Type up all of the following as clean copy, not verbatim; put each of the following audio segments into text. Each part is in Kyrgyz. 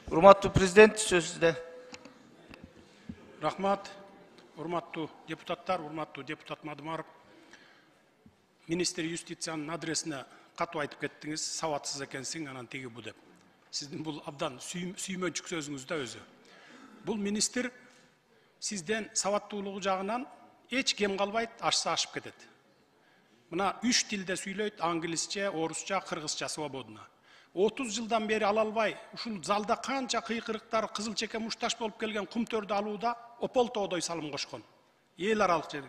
Урматтуу президент, сөз сизде. Рахмат, урматтуу депутаттар, урматтуу депутат Мадымаров. Министр юстициянын адресине катуу айтып кеттиңиз, сабатсыз экенсиң, анан тиги бу деп. Сиздин бул абдан сүймөнчүк сөзүңүз да өзү. Бул министр сизден сабаттуулугу жагынан эч кем калбайт, ашса ашып кетет. Мына 3 тилде сүйлөйт, англисче, орусча, кыргызча свободно. 30 жылдан бери ала албай, ушул залда канча кыйкырыктар, кызыл чеке мушташ болуп келген кумтөрдү алууда ополтоодой салым кошкон. Эл аралык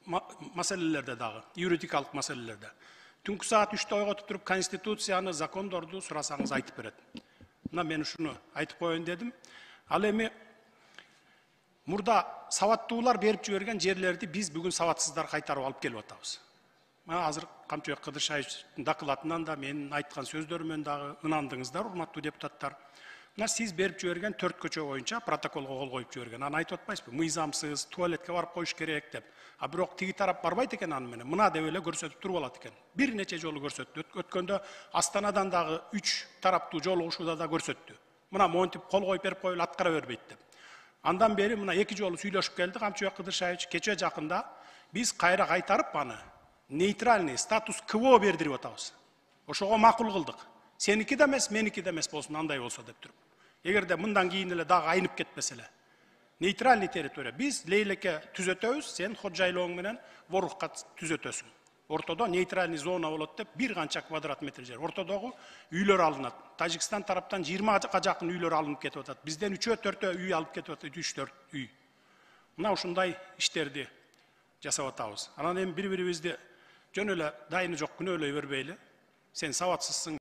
маселелерде дагы, юридикалык маселелерде. Түнкү саат 3-тө ойготуп туруп, конституцияны, закондорду сурасаңыз айтып берет. Мына мен ушуну айтып коеюн дедим. Ал эми мурда сабаттуулар берип жиберген жерлерди биз бүгүн сабатсыздар кайтарып алып келип атабыз. Азыр Камчыбек Кыдыршаевичтин докладынан да менин айткан сөздөрүмөн дагы ынандыңыздар, урматтуу депутаттар. Мына сиз берип жиберген 4 көчө боюнча протоколго кол коюп жиберген. Аны айтып атпайсызбы? Мыйзамсыз, туалетке барып коюш керек деп. А бирок тиги тарап барбайт экен аны менен. Мына деп эле көрсөтүп туруп алат экен. Бир нече жолу көрсөттү. Өткөндө Астанадан дагы 3 тараптуу жолугушууда да көрсөттү. Мына монтип кол коюп берип коюлуп аткара бербейт деп. Андан бери мына 2 жолу сүйлөшүп келди Камчыбек Кыдыршаевич. Кече жакында биз кайра кайтарып аны нейтральный статус КВО бердирип атабыз. Ошого макул кылдык. Сеники да эмес, меники да эмес болсун, андай болсо деп туруп. Эгерде мындан кийин эле дагы айнып кетпесе эле. Нейтральный территория. Биз Лейлеке түзөтөбүз, сен ходжайлооң менен Ворукка түзөтөсүң. Ортодо нейтральный зона болот деп бир канча квадрат метр жер. Ортодогу үйлөр алынат. Тажикстан тараптан 20га жакын үйлөр алынып кетип атат. Бизден 3-4 үй алып кетип атат, 3-4 үй. Мына ушундай иштерди жасап атабыз. Анан эми бири-бирибизди жөн эле дайыны жок күнөөлөй бербейли. Сен сабатсызсың,